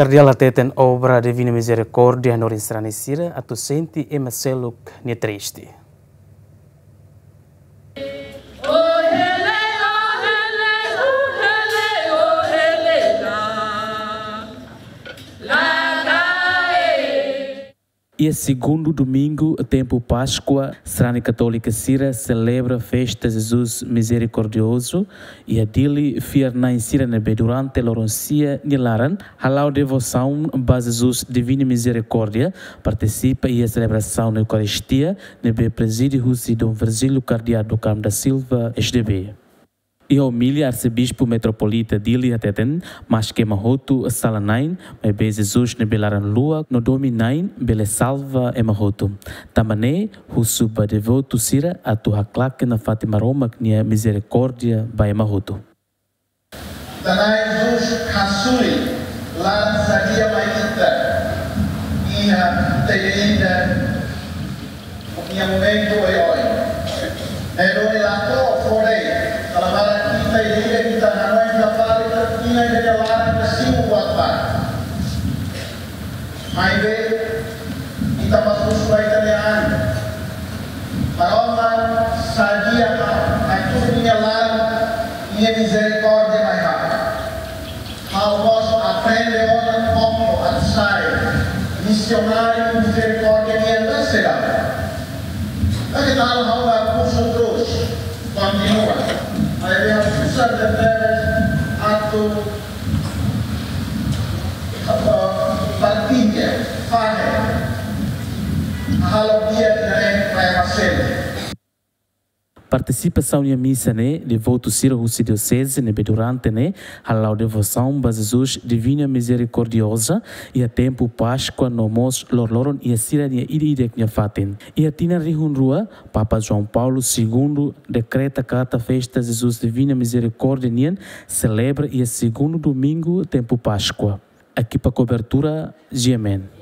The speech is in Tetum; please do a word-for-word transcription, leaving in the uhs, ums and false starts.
Kardeál hateten obra Divina Mizerikórdia hanorin sarani sira atu sente ema seluk nia triste. Iha segundu domingu tempu Páskua, sarani katólika sira selebra festa Jesus Mizerikordiozu, iha Dili, fiar-na'in sira ne'ebé durante loron sia nia laran hala'o devosaun ba Jesus Divina Mizerikórdia, partisipa iha selebrasaun Eukaristia ne'ebé prezide husi Dom Virgílio Kardeál do Carmo da Silva, S D B. Iha omilia, Arsebispu Metropolita Dili hateten, maske ema hotu sala-na'in, maibé Jesus ne'ebé laran-luak no domin-na'in bele salva ema hotu. Tanba ne'e, husu ba devotu sira atu haklaken nafatin Maromak nia mizerikórdia ba ema hotu. Ita-Na'in Jesus hasoru laran sadia mai ita iha ita ida-idak nia momentu oioin. Ne'e duni la to'o fó de'it, kala barak ita ida-idak ita hanoin kapali ita-nia laran ita simu buat barak. Maibé ita bá husu ba ita-nia an. Maromak, sadia ha'u hatudu nia laran, nia mizerikórdia mai ha'u. Ha'u mós aprende ona kómo atu sai misionáriu mizerikórdia nian, la sei la. Lagi tahu ha'u la kursu terus, kontinua. Maibé ha'u susar tebes atu, atu partilla, fahe, halo di'ak ida-ne'e ba ema seluk. Partisipasaun iha misa ne'e, devotu sira husi dioseze ne'ebé durante ne'e hala'o devosaun ba Jesus Divina Mizerikordioza iha tempu Páskua no mós loroloron iha sira-nia ida-idak nia fatin. Iha tinan rihun rua, Papa João Paulo Segundo dekreta katak festa Jesus Divina Mizerikórdia nian selebra iha segundu domingu tempu Páskua. Ekipa kobertura, G M N.